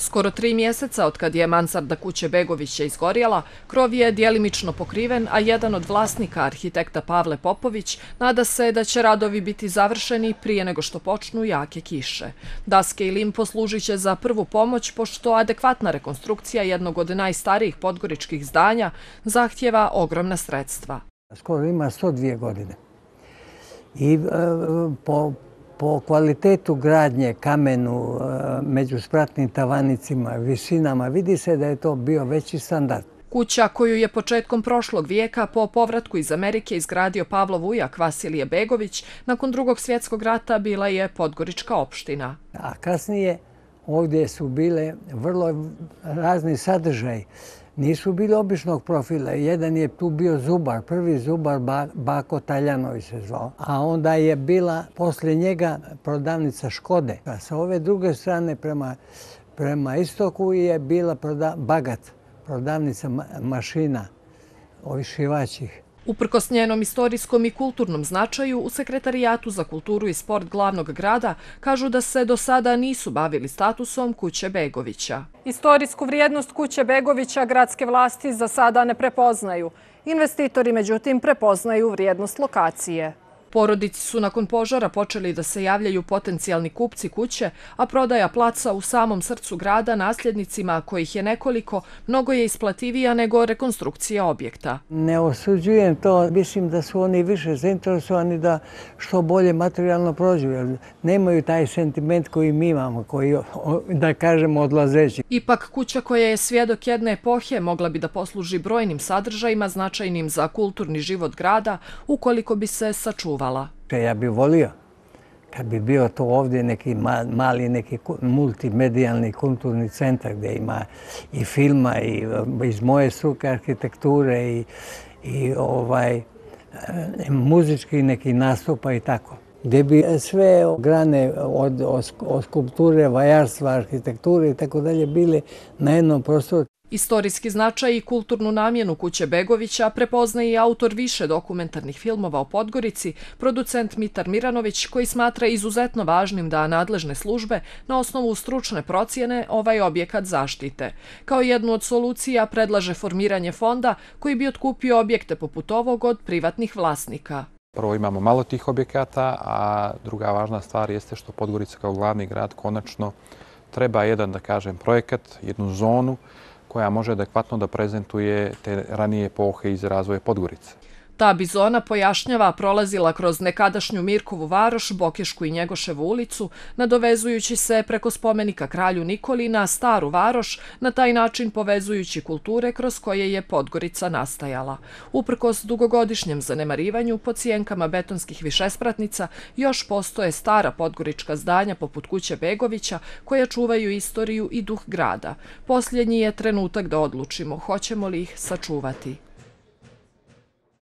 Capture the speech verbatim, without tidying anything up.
Skoro tri mjeseca od kad je mansarda kuće Begovića izgorjela, krov je djelimično pokriven, a jedan od vlasnika, arhitekta Pavle Popović, nada se da će radovi biti završeni prije nego što počnu jake kiše. Daske i lim poslužit će za prvu pomoć, pošto adekvatna rekonstrukcija jednog od najstarijih podgoričkih zdanja zahtjeva ogromna sredstva. Skoro ima sto dvije godine. I e, po Po kvalitetu gradnje, kamenu, među spratnim tavanicima, visinama, vidi se da je to bio veći standard. Kuća koju je početkom prošlog vijeka po povratku iz Amerike izgradio Pavlov ujak Vasilije Begović, nakon Drugog svjetskog rata bila je podgorička opština. A kasnije ovdje su bile vrlo razni sadržaji. Nisu bili običnog profila. Jedan je tu bio zubar, prvi zubar Bako Taljanović se zvao. A onda je bila poslije njega prodavnica Škode. A sa ove druge strane prema, prema istoku je bila proda, Bagat, prodavnica ma, mašina, ovih šivaćih. Uprkos njenom istorijskom i kulturnom značaju, u Sekretarijatu za kulturu i sport glavnog grada kažu da se do sada nisu bavili statusom kuće Begovića. Istorijsku vrijednost kuće Begovića gradske vlasti za sada ne prepoznaju. Investitori, međutim, prepoznaju vrijednost lokacije. Porodici su nakon požara počeli da se javljaju potencijalni kupci kuće, a prodaja placa u samom srcu grada nasljednicima, kojih je nekoliko, mnogo je isplativija nego rekonstrukcija objekta. Ne osuđujem to, mislim da su oni više zainteresovani da što bolje materijalno prođu, jer nemaju taj sentiment koji mi imamo, koji, da kažemo, odlazeći. Ipak kuća koja je svjedok jedne epohe mogla bi da posluži brojnim sadržajima značajnim za kulturni život grada, ukoliko bi se sačuvala. Ja bih volio kad bi bio to ovdje neki mali, neki multimedijalni kulturni centar gdje ima i filma i iz moje struke arhitekture i, i ovaj, muzički neki nastupa i tako. Gdje bi sve grane od, od, od skulpture, vajarstva, arhitekture i tako dalje bile na jednom prostoru. Istorijski značaj i kulturnu namjenu kuće Begovića prepoznaje i autor više dokumentarnih filmova o Podgorici, producent Mitar Miranović, koji smatra izuzetno važnim da nadležne službe na osnovu stručne procjene ovaj objekat zaštite. Kao jednu od solucija predlaže formiranje fonda koji bi otkupio objekte poput ovog od privatnih vlasnika. Prvo imamo malo tih objekata, a druga važna stvar jeste što Podgorica kao glavni grad konačno treba jedan, da kažem, projekat, jednu zonu koja može adekvatno da prezentuje te ranije epohe iz razvoja Podgorice. Ta bi zona, pojašnjava, prolazila kroz nekadašnju Mirkovu varoš, Bokešku i Njegoševu ulicu, nadovezujući se preko spomenika kralju Nikoli na Staru varoš, na taj način povezujući kulture kroz koje je Podgorica nastajala. Uprkos dugogodišnjem zanemarivanju, pod sjenkama betonskih višespratnica još postoje stara podgorička zdanja poput kuće Begovića koja čuvaju istoriju i duh grada. Posljednji je trenutak da odlučimo hoćemo li ih sačuvati.